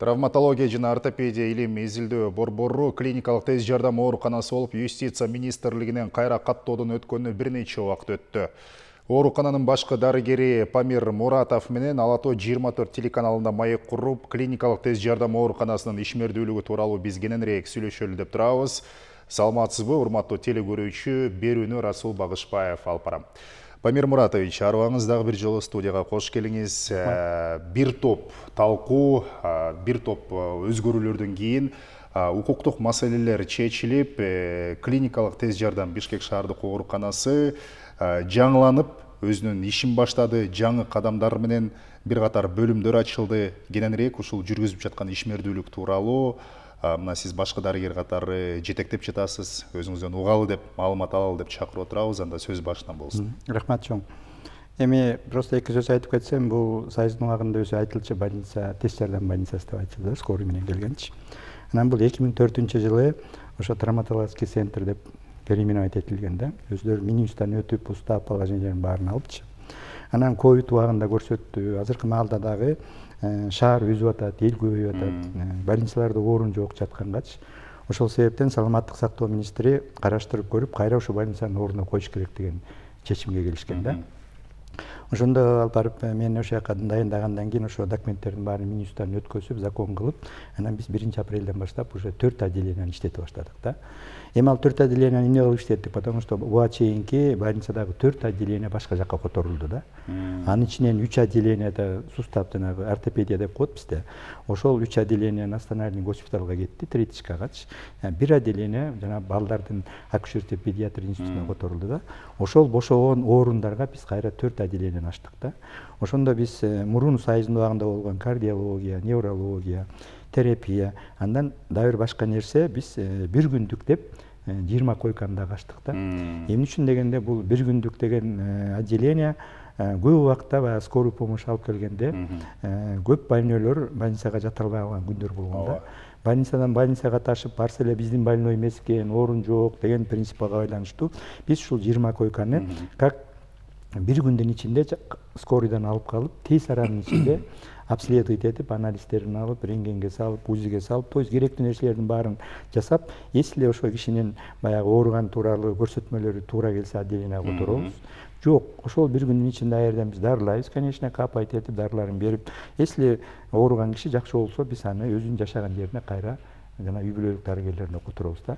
Травматология жана ортопедия илим изилдөө борбору клиникалык тез жардам ооруканасы болуп Юстиция министрлигинен кайра каттоодон өткөнүнө бир нече убакыт өттү. Оорукананын башкы дарыгери Памир Муратов менен Ала Тоо 24 телеканалында маек куруп, клиникалык тез жардам ооруканасынын ишмердүүлүгү тууралуу биз кененирээк сүйлөшөлү деп турабыз. Саламатсызбы, урматтуу телекөрүүчү, берүүнү Расул Багышбаев алып барам. Памир Муратович, арыбаңыз дагы бир жолу студияга кош келиңиз. Бир топ талкуу, бир топ өзгөрүүлөрдөн кийин укуктук маселелер чечилип, клиникалык тез жардам Бишкек шаардык ооруканасы жаңыланып, өзүнүн ишин баштады, жаңы кадамдар менен бир катар бөлүмдөр ачылды. Кененирээк ушул жүргүзүп жаткан ишмердүүлүк тууралуу мына сиз башкы дарыгер катары жетектеп жатасыз, өзүңүздөн угалы деп, маалымат алалы деп чакырып отурабыз. Анда сөз башынан болсун. Рахмат чоң. Эми просто эки сөз айтып кетсем, бул Союздун убагында өзү айтылчу больница, тез жардам больницасы деп айтылды, скорый менен келгенчи. Анан бул 2004-жылы ошо травматологический центр деп переименовать этилген да. Өздөрү минибустан өтүп, устап положениялердин баарын алыпчы. Анан ковид убагында көрсөттү. Азыркы маалда дагы шаар үзүп атат, эл көбөйүп атат, больницаларда орун жок жаткангачы. Ошол себептен саламаттык сактоо министри караштырып көрүп, кайра ошо больницанын ордуна коюш керек деген чечимге келишкен да. Ошондо алып барып мен ошол жака дайындагандан кийин ошо документтердин баарын минибустан өткөзүп, закон кылып, анан биз 1-апрелден баштап уже 4 отделенияны иштете баштадык да. Эми ал 4 отделенияны эмне кылып иштеттик? Потому что буга чейинки больницадагы 4 отделение башка жакка которулду да. Анын ичинен 3 отделенияда сустав жанагы ортопедия деп коет бизде. Ошол 3 отделение национальный госпиталга кетти, Третичкагачы. Бир отделение жана балдардын акушерство педиатрия институтуна которулду да. Ошол бошогон орундарга биз кайра 4 отделение ачтык да. Ошондо биз мурун Союздун убагында болгон кардиология, неврология, терапия, андан дагы бир башка нерсе биз бир күндүк деп 20 койканы да ачтык да. Эмне үчүн дегенде бул бир күндүк деген отделение көп убакта баягы скорый помощь алып келгенде көп больнойлор больницага жата албай калган күндөр болгон да. Больницадан больницага ташып барса эле биздин больной эмес экен, орун жок деген принципке байланыштуу биз ушул 20 койканы как бир күндүн ичинде скорыйдан алып калып, тез аранын ичинде обследовать этип, анализдерин алып, рентгенге салып, УЗИге салып, то есть керектүү нерселердин баарын жасап, если ошо кишинин баягы ооруган тууралуу көрсөтмөлөрү туура келсе отделенияга которобуз. Жок, ошол бир күндүн ичинде аерден биз дарылайбыз, конечно, капать этип, дарыларын берип, если ооруган киши жакшы болсо, биз аны өзүнүн жашаган жерине кайра жана үй бүлөлүк дарыгерлерине которобуз да.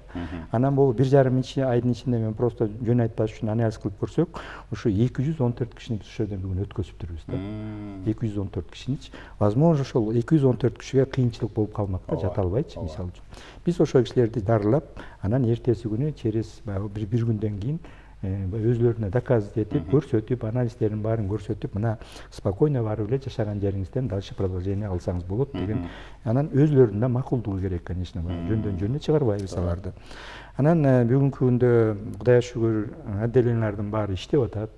Анан бул 1,5 айдын ичинде мен просто жөн айтпаш үчүн анализ кылып көрсөк, ошо 214 кишини биз ошол жерден бүгүн өткөзүптүрбүз да. 214 кишиничи. Возможно, ошол 214 кишиге кыйынчылык болуп калмак да, жата албайчы, мисалы үчүн. Биз ошол кишилерди дарылап, анан эртеси күнү через бир күндөн кийин өзлөрүнө доказывать этип, көрсөтүп, анализдерин баарын көрсөтүп, мына спокойно барып эле жашаган жериңизден дальше продолжение алсаңыз болот деген. Анан өзлөрүнүн да макулдугу керек, конечно, жөндөн жөнүнө чыгарбайбыз аларды. Анан бүгүнкү күндө Кудайга шүгүр отделениялардын баары иштеп атат.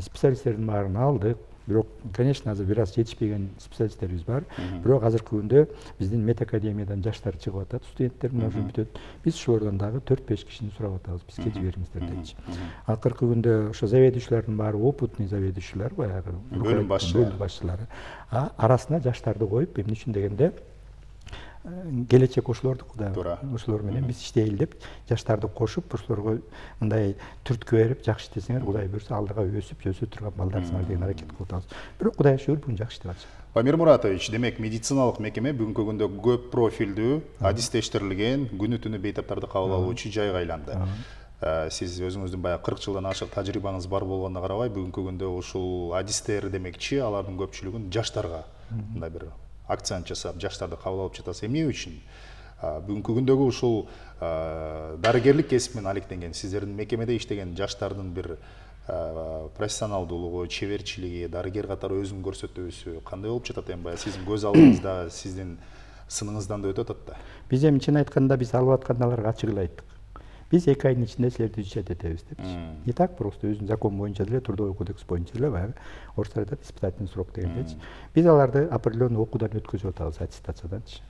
Специалисттердин баарын алдык. Бирок, конечно, азыр бир аз жетишпеген специалисттерибиз бар. Бирок азыркы күндө биздин медакадемиядан жаштар чыгып атат, студенттер мына ушул бүтөт. Биз ошолордон дагы 4-5 кишини сурап атабыз, бизге жибериңиздер депчи. Акыркы күндө ошо заведующийлардын баары опытный заведующийлар, баягы бөлүм башчылары. Арасына жаштарды коюп, эмне үчүн дегенде келечек ошолордук да. Ошолор менен биз иштейли деп жаштарды кошуп, ошолорго мындай түрткү берип, жакшы иштесеңер, Кудай буйрса алдыга өсүп турган балдарсыңар деген аракет кылып атабыз. Бирок Кудайга шүгүр бүгүн жакшы иштеп атышат. Памир Муратович, демек медициналык мекеме бүгүнкү күндө көп профилдүү, адистештирилген, күнү түнү бейтаптарды кабыл алуучу жайга айланды. Сиз өзүңүздүн баягы 40 жылдан ашык тажрыйбаңыз бар болгонуна карабай, бүгүнкү күндө ушул адистер демекчи, алардын көпчүлүгүн жаштарга мындай бир акцент жасап, жаштарды кабыл алып жатасыз. Эмне үчүн? Бүгүнкү күндөгү ушул дарыгерлик кесип менен алектенген, сиздердин мекемеде иштеген жаштардын бир профессионалдуулугу, чеберчилиги, дарыгер катары өзүн көрсөтүүсү кандай болуп жатат эми? Баягы сиздин көз алдыңызда, сиздин сыныңыздан да өтүп атат да. Биз эми чын айтканда биз алып атканды аларга ачык эле айттык. биз 2 айдын ичинде силерди изучать этебиз депчи. Не так просто өзүнүн закон боюнча деле, трудовой кодекс боюнча деле баягы орустар айтат испытательный срок дегендечи. Биз аларды определенный окуудан өткөзүп атабыз аттестацияданчы.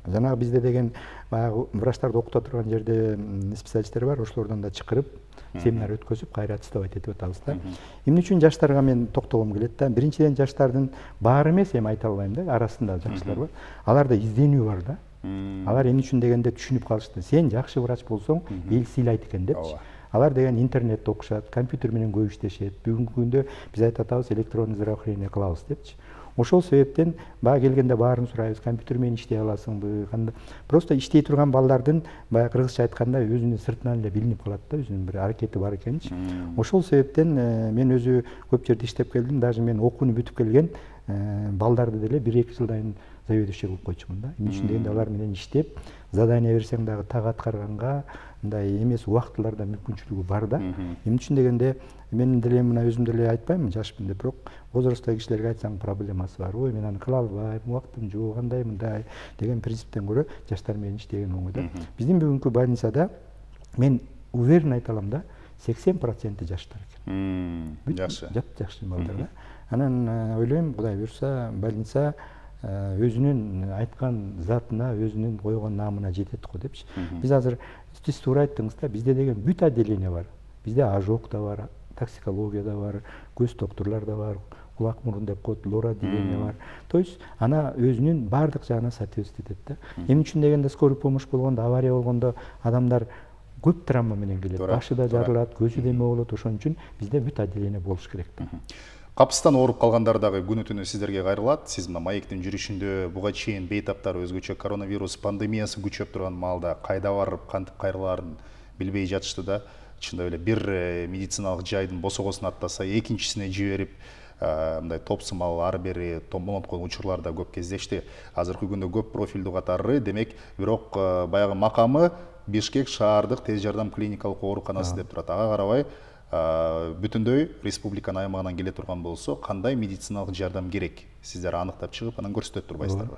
Жанагы бизде деген баягы врачтарды окута турган жерде специалисттер бар, ошолордон да чакырып семинар өткөзүп кайра аттестовать этип атабыз да. Эмне үчүн жаштарга мен токтолгум келет да. Биринчиден жаштардын баары эмес, эми айта албайм да, арасында жакшылар бар. Аларда изденүү бар да. Алар эмне үчүн дегенде түшүнүп калышты. Сен жакшы врач болсоң, эл сыйлайт экен депчи. Алар деген интернетте окушат, компьютер менен көп иштешет. Бүгүнкү күндө биз айтып атабыз электронный здравоохранение кылабыз депчи. Ошол себептен баягы келгенде баарын сурайбыз, компьютер менен иштей аласыңбы, кандай. Просто иштей турган балдардын баягы кыргызча айтканда өзүнүн сыртынан эле билинип калат да, өзүнүн бир аракети бар экенчи. Ошол себептен мен өзү көп жерде иштеп келдим, даже мен окууну бүтүп келген балдарды деле 1-2 жылдан заведующий кылып койчумун да. Эмне үчүн дегенде алар менен иштеп, задание берсең дагы так аткарганга мындай эмес убактыларда мүмкүнчүлүгү бар да. Эмне үчүн дегенде мен деле мына өзүм деле айтпаймын жашпын деп, бирок возрасттагы кишилерге айтсаң проблемасы бар. Ой, мен аны кыла албайм, убактым жок, андай мындай деген принциптен көрө жаштар менен иштеген оңой да. Биздин бүгүнкү больницада мен уверен айта алам да, 80% жаштар экен. Жакшы. Жакшы балдар да. Анан ойлойм, Кудай буюрса, больница өзүнүн айткан затына, өзүнүн койгон наамына жетет го депчи. Биз азыр сиз туура айттыңыз да, бизде деген бүт отделение бар. Бизде ожог да бар, токсикология да бар, көз доктурлар да бар, кулак мурун деп коет, лор отделение бар. То есть ана өзүнүн баардык жагына соответствовать этет да. Эмне үчүн дегенде скорый помощь болгондо, авария болгондо адамдар көп травма менен келет. Башы да жарылат, көзү деме болот. Ошон үчүн бизде бүт отделение болуш керек да. Капыстан ооруп калгандар дагы күнү түнү сиздерге кайрылат. Сиз мына маектин жүрүшүндө буга чейин бейтаптар өзгөчө коронавирус пандемиясы күчөп турган маалда кайда барып кантип кайрылаарын билбей жатышты да. Чындап эле бир медициналык жайдын босогосун аттаса, экинчисине жиберип, мындай топсумал ары бери томолоткон учурлар да көп кездешти. Азыркы күндө көп профилдүү катары, демек, бирок баягы макамы Бишкек шаардык тез жардам клиникалык ооруканасы деп турат. Ага карабай бүтүндөй республиканын аймагынан келе турган болсо, кандай медициналык жардам керек? Сиздер аныктап чыгып, анан көрсөтөт турбайсыздарбы?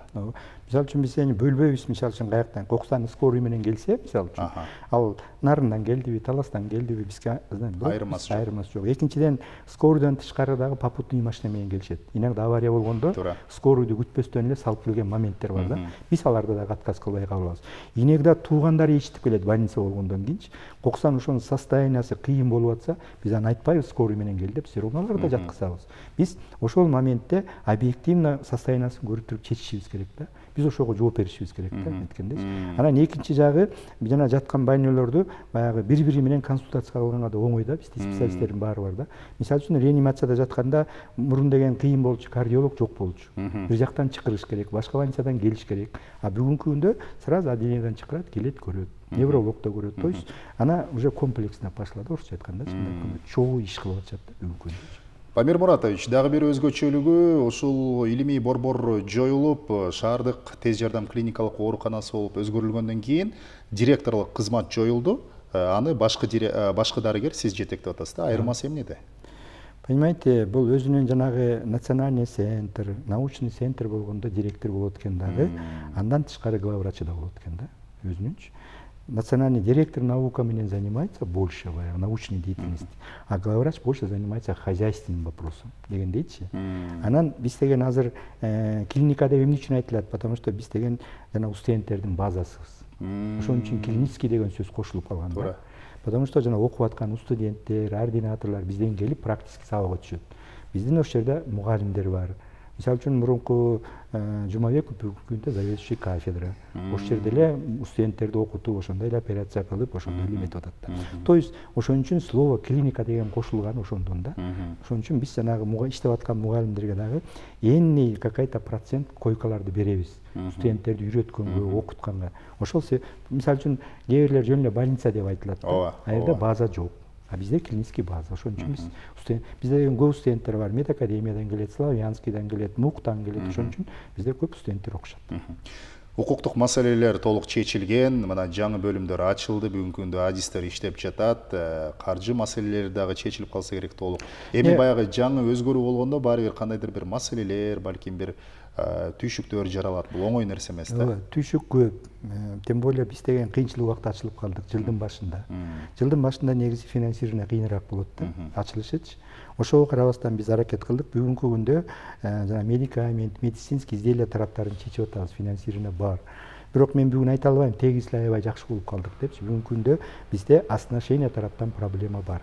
Мисалы үчүн биз эми бөлбөйбүз, мисалы үчүн каяктан, Кокстан скорый менен келсе, мисалы үчүн, ал Нарындан келдиби, Таластан келдиби, бизге айырмасы жок. Экинчиден, скорыйдан тышкары дагы попутный машина менен келишет. Иногда авария болгондо, скорыйду күтпөстөн эле салып келген моменттер бар да. Биз аларды дагы отказ кылбай калабыз. Иногда туугандары ичтип келет больница болгондон кийинчи. Коксан ошонун состояниясы кыйын болуп атса, биз аны айтпайбыз скорый менен кел деп, сироналарды да жаткызабыз. Биз ошол моментте объективно состояниясын көрүп туруп чечишибиз керек да. Биз ошого жооп беришибиз керек да, айткандайчы. Анан экинчи жагы, жана жаткан больнойлорду баягы бири-бири менен консультация кылганга да оңой да, бизде специалисттердин баары бар да. Мисалы үчүн реанимацияда жатканда мурун деген кыйын болчу, кардиолог жок болчу. Бир жактан чакырыш керек, башка больницадан келиш керек. А бүгүнкү күндө сразу отделениеден чакырат, келет, көрөт. Невролог да көрөт. То есть ана уже комплексно пошла да, орусча айтканда, чогуу иш кылып атышат да бүгүнкү күндө. Памир Муратович, дагы бир өзгөчөлүгү ушул илимий борбор жоюлуп, шаардык тез жардам клиникалык ооруканасы болуп өзгөрүлгөндөн кийин директорлук кызмат жоюлду. Аны башкы дарыгер сиз жетектеп атасыз да. Айырмасы эмнеде? Понимаете, бул өзүнүн жанагы национальный центр, научный центр болгондо директор болот экен дагы, андан тышкары главврачы да болот экен да, өзүнүнчү. Национальный директор науками занимается больше научной деятельности, а главврач больше занимается хозяйственным вопросом дегендейчи. Анан биз деген азыр клиника деп эмне үчүн айтылат? Потому что биз деген жана студенттердин базасыбыз. Ошон үчүн клинический деген сөз кошулуп калган да. Потому что жана окуп аткан студенттер, ординаторлор бизден келип практически сабакка түшөт. Биздин ошол жерде мугалимдер бар. Мисалы үчүн мурунку Жумабеков бүгүнкү күндө заведующий кафедра. Ошол жерде эле студенттерди окутуп, ошондой эле операция кылып, ошондой эле метод атат. То есть ошон үчүн слово клиника деген кошулган ошондон да. Ошон үчүн биз жанагы иштеп аткан мугалимдерге дагы энный какой-то процент койкаларды беребиз. Студенттерди үйрөткөнгө, окутканга. Ошол мисалы үчүн кээ бирлер жөн эле больница деп айтылат. А жерде база жок. А бизде клинический база. Ошон үчүн бизде деген көп студенттер бар. Медакадемиядан келет, Славянскийдан келет, МУКтан келет. Ошон үчүн бизде көп студенттер окушат. Укуктук маселелер толук чечилген, мына жаңы бөлүмдөр ачылды, бүгүнкү күндө адистер иштеп жатат, каржы маселелери дагы чечилип калса керек толук. Эми баягы жаңы өзгөрүү болгондо баары бир кандайдыр бир маселелер, балким бир түйшүктөр жаралат. Бул оңой нерсе эмес да. Түйшүк көп. Тем более биз деген кыйынчылык убакта ачылып калдык жылдын башында. Жылдын башында негизи финансирование кыйыныраак болот да, ачылышычы. Ошого карабастан биз аракет кылдык. Бүгүнкү күндө жана медикамент, медицинский изделия тараптарын чечип атабыз, финансирование бар. Бирок мен бүгүн айта албайм, тегиз эле аябай жакшы болуп калдык депчи. Бүгүнкү күндө бизде оснащение тараптан проблема бар.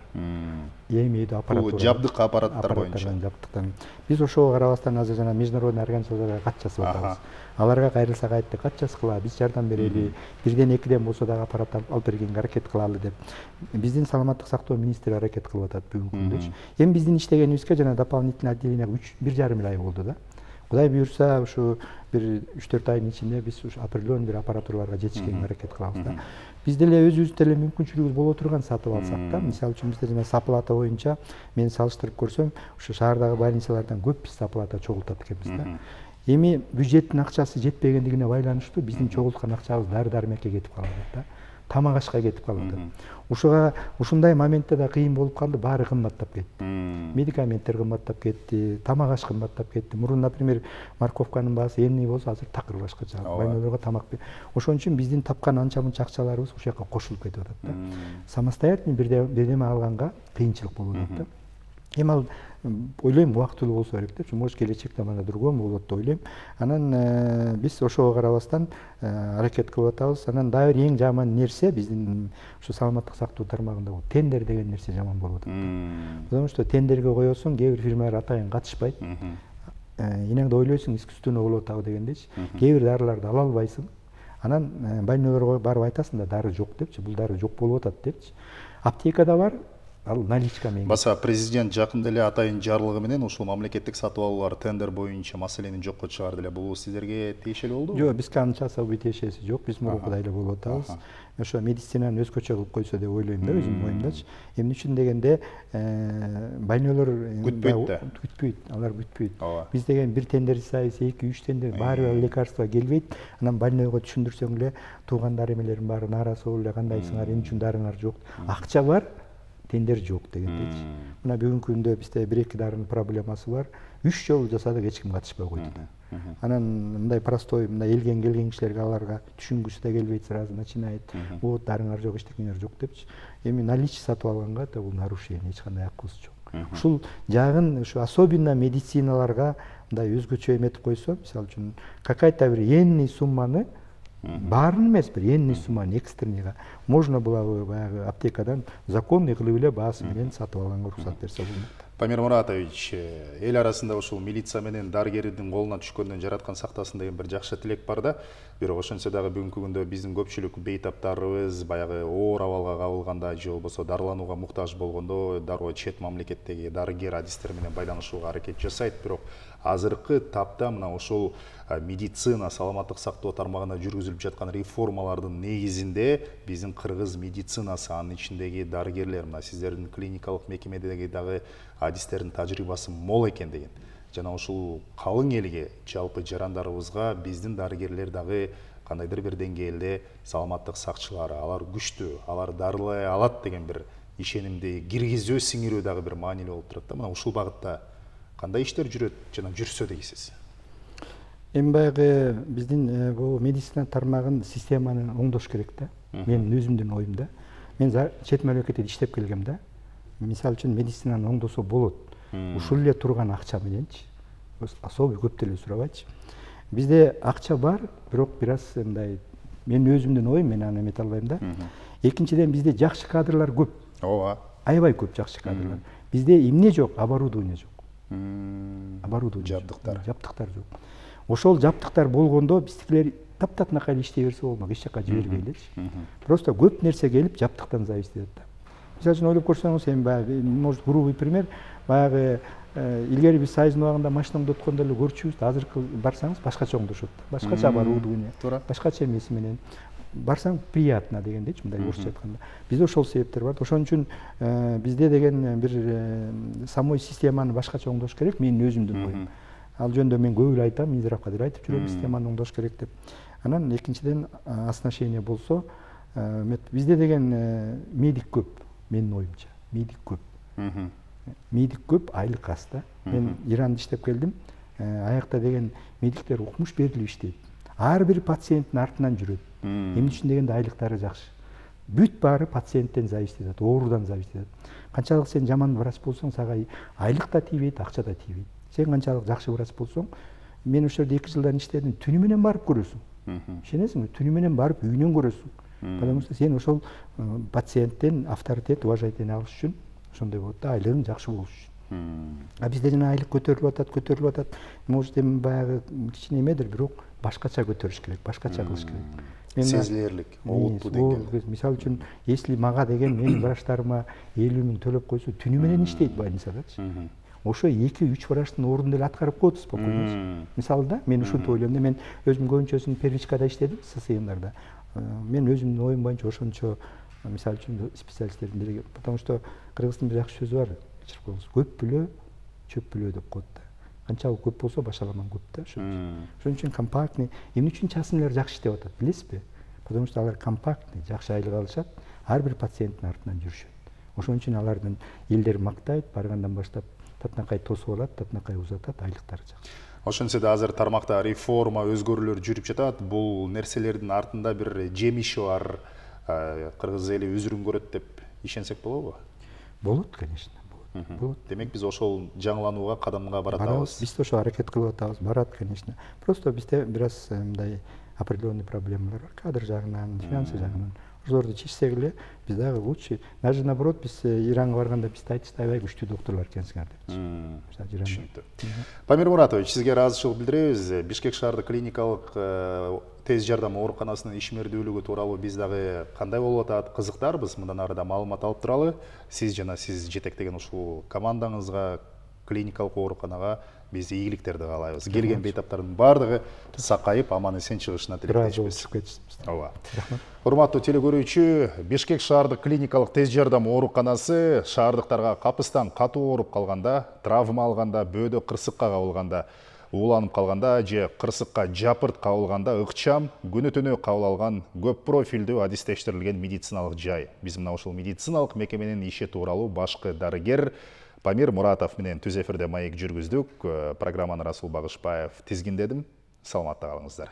Эмейдүү аппаратура. Бул жабдык аппараттар боюнча. Биз ошого карабастан азыр жана международный организацияларга кат жазып атабыз. Аларга кайрылсак айтты, кат жазгыла, биз жардам берели, бирден экиден болсо дагы аппарат алып бергенге аракет кылалы деп. Биздин саламаттык сактоо министри аракет кылып атат бүгүнкү күндөчү. Эми биздин иштегенибизге жана дополнительный отделение 1,5 ай болду да. Кудай буюрса, ушу бир 3-4 айдын ичинде биз ушу определенный бир аппаратураларга жетишкенге аракет кылабыз да. Биз деле өзүбүз деле мүмкүнчүлүгүбүз боло турган сатып алсак да. Мисалы үчүн бизде жана саплата боюнча мен салыштырып көрсөм, ушу шаардагы больницалардан көп биз саплата чогултат экенбиз да. Эми бюджеттин акчасы жетпегендигине байланыштуу биздин чогулткан акчабыз дары-дармекке кетип калып атат да. Тамак ашка кетип калып атат. Ушуга ушундай моментте да кыйын болуп калды, баары кымбаттап кетти. Медикаменттер кымбаттап кетти, тамак аш кымбаттап кетти. Мурун, например, морковканын баасы энный болсо, азыр такыр башкача. Больнойлорго тамак. Ошон үчүн биздин тапкан анча-мынча акчаларыбыз ушул жака кошулуп кетип атат да. Самостоятельный бирдеме алганга кыйынчылык болуп атат да. Эми ал ойлойм убактылуу болсо керек депчи, может келечекте мана другому болот деп ойлойм. Анан биз ошого карабастан аракет кылып атабыз. Анан дагы бир эң жаман нерсе биздин ушу саламаттык сактоо тармагында бул тендер деген нерсе жаман болуп атат. Потому что тендерге коесуң, кээ бир фирмалар атайын катышпайт. Энеңди ойлойсуң, искусственно болуп атабы дегендейчи. Кээ бир дарыларды ала албайсың. Анан больнойлорго барып айтасың да, дары жок депчи, бул дары жок болуп атат депчи. Аптекада бар, ал наличка менен. Баса президент жакында эле атайын жарлыгы менен ушул мамлекеттик сатып алуулар тендер боюнча маселени жокко чыгарды эле. Бул сиздерге тиешелүү болдубу? Жок, бизге анча особый тиешеси жок. Биз мурункудай эле болуп атабыз. Ошо медицинаны өзгөчө кылып койсо деп ойлойм да, өзүмдүн оюмдачы. Эмне үчүн дегенде, больнойлор күтпөйт, алар күтпөйт. Биз деген бир тендер сайыз 2-3 тендер баары бир лекарство келбейт. Анан больнойго түшүндүрсөң эле туугандар эмелерин баары нааразы болуп эле, кандайсыңар, эмне үчүн дарыңар жок. Акча бар, тендер жок дегендейчи. Мына бүгүнкү күндө бизде 1-2 дарынын проблемасы бар. 3 жолу жасадык, эч ким катышпай койду да. Анан мындай простой, мындай элген келген кишилерге аларга түшүнгүсү да келбейт, сразу начинает. Вот дарыңар жок, эчтекеңер жок депчи. Эми наличие сатып алганга да бул нарушение, эч кандай акыбыз жок. Ушул жагын ушу особенно медициналарга мындай өзгөчө эметип койсо, мисалы үчүн какая-то бир энный сумманы, баарын эмес, бир энный сумманы экстренныйга можно было бы баягы аптекадан законный кылып эле баасы менен сатып алганга уруксат берсе болмок. Памир Муратович, эл арасында ушул милиция менен дарыгердин колуна түшкөндөн жараткан сактасын деген бир жакшы тилек бар да. Бирок ошентсе дагы бүгүнкү күндө биздин көпчүлүк бейтаптарыбыз баягы оор абалга кабылганда же болбосо дарыланууга муктаж болгондо дароо чет мамлекеттеги дарыгер адистер менен байланышууга аракет жасайт. Бирок азыркы тапта мына ошол медицина, саламаттык сактоо тармагына жүргүзүлүп жаткан реформалардын негизинде биздин кыргыз медицинасы, анын ичиндеги дарыгерлер, мына сиздердин клиникалык мекемедеги дагы адистердин тажрыйбасы мол экен деген. Жана ушул калың элге, жалпы жарандарыбызга биздин дарыгерлер дагы кандайдыр бир деңгээлде саламаттык сакчылары, алар күчтүү, алар дарылай алат деген бир ишенимди киргизүү, сиңирүү дагы бир маанилүү болуп турат да. Мына ушул багытта кандай иштер жүрөт жана жүрсө дейсиз? Эми баягы биздин бул медицина тармагын системаны оңдош керек да. Менин өзүмдүн оюмда. Мен чет мамлекетте иштеп келгем да. Мисалы үчүн медицинаны оңдосо болот. Ушул эле турган акча мененчи. Особый көп деле сурабайчы. Бизде акча бар, бирок бир аз мындай менин өзүмдүн оюм, мен аны эмете албайм да. Экинчиден бизде жакшы кадрлар көп. Ооба. Аябай көп жакшы кадрлар. Бизде эмне жок? Оборудование жок. Оборудование, жабдыктар жок. Ошол жабдыктар болгондо биздикилер таптакнакай иштей берсе болмок, эч жака жибербейличи. Просто көп нерсе келип жабдыктан зависит этет да. Мисалы үчүн ойлоп көрсөңүз, эми баягы, может, грубый пример, баягы илгери биз сайыздын убагында машина оңдоткондо эле көрчүбүз, азыркы барсаңыз башкача оңдошот. Башкача оборудование, башкача эмеси менен барсаң приятно дегендейчи, мындай орусча айтканда. Бизде ошол себептер бар. Ошон үчүн бизде деген бир самой системаны башкача оңдош керек, менин өзүмдүн оюм. Ал жөнүндө мен көп эле айтам, Минздравга деле айтып жүрөм, системаны оңдош керек деп. Анан экинчиден оснащение болсо, бизде деген медик көп, менин оюмча. Медик көп. Медик көп, айлык аз да. Мен Иранда иштеп келдим. аякта деген медиктер укмуш берилип иштейт. Ар бир пациенттин артынан жүрөт. Эмне үчүн дегенде айлыктары жакшы. Бүт баары пациенттен зависит этет, оорудан зависит этет. Канчалык сен жаман врач болсоң, сага айлык да тийбейт, акча да тийбейт. Сен канчалык жакшы врач болсоң, мен ошол жерде 2 жылдан иштедим, түнү менен барып көрөсүң. Ишенесиңби? Түнү менен барып үйүнөн көрөсүң. Потому что сен ошол пациенттен авторитет, уважение алыш үчүн ошондой болот да, айлыгың жакшы болуш үчүн. А бизде жана айлык көтөрүлүп атат. Может, эми баягы кичине эмедир, бирок башкача көтөрүш керек, башкача кылыш керек. Сезилерлик, олуттуу деңгээлде. Мисалы үчүн, если мага деген менин врачтарыма 50 000 төлөп койсо, түнү менен иштейт больницадачы. Ошо 2-3 врачтын ордун деле аткарып коет спокойно. Мисалы да, мен ушинтип ойлойм да, мен өзүм көбүнчөсүн первичкада иштедим, ССИМдарда. Мен өзүмдүн оюм боюнча ошончо, мисалы үчүн специалисттердин бири, потому что кыргыздын бир жакшы сөзү бар, кечирип коюңуз, көп бүлө, чөп бүлө деп коет да. Канчалык көп болсо башаламан көп да. Ошон үчүн компактный, эмне үчүн частныйлар жакшы иштеп атат, билесизби? Потому что алар компактный, жакшы айлык алышат, ар бир пациенттин артынан жүрүшөт. Ошон үчүн алардын элдер мактайт, баргандан баштап татынакай тосуп алат, татынакай узатат, айлыктары жакшы. Ошентсе да азыр тармакта реформа, өзгөрүүлөр жүрүп жатат. Бул нерселердин артында бир жемиши бар. Кыргыз эли үзүрүн көрөт деп ишенсек болобу? Болот, конечно. Болот. Демек биз ошол жаңыланууга кадамга баратабыз. Биз ошо аракет кылып атабыз, барат, конечно. Просто бизде бир аз мындай определенный проблемалар бар, кадр жагынан, финансы жагынан. Ошолорду чечсек эле, биз дагы лучше. Даже наоборот, биз Иранга барганда бизди айтышты, аябай күчтүү доктурлар экенсиңер деп. Түшүнүктүү. Памир Муратович, сизге ыраазычылык билдиребиз. Бишкек шаардык клиникалык тез жардам ооруканасынын ишмердүүлүгү тууралуу биз дагы кандай болуп атат, кызыктарбыз. Мындан ары да маалымат алып туралы. Сиз жана сиз жетектеген ушул командаңызга, клиникалык ооруканага биз ийгиликтерди каалайбыз. Келген бейтаптардын баардыгы сакайып, аман эсен чыгышына тилектешпиз. Ооба. Урматтуу телекөрүүчү, Бишкек шаардык клиникалык тез жардам ооруканасы шаардыктарга капыстан катуу ооруп калганда, травма алганда, бөөдө кырсыкка кабылганда, ууланып калганда же кырсыкка жапырт кабылганда ыкчам, күнү түнү кабыл алган көп профилдүү адистештирилген медициналык жай. Биз мына ушул медициналык мекеменин иши тууралуу башкы дарыгер Памир Муратов менен түз эфирде маек жүргүздүк. Программаны Расул Багышбаев тизгиндедим. Саламатта калыңыздар.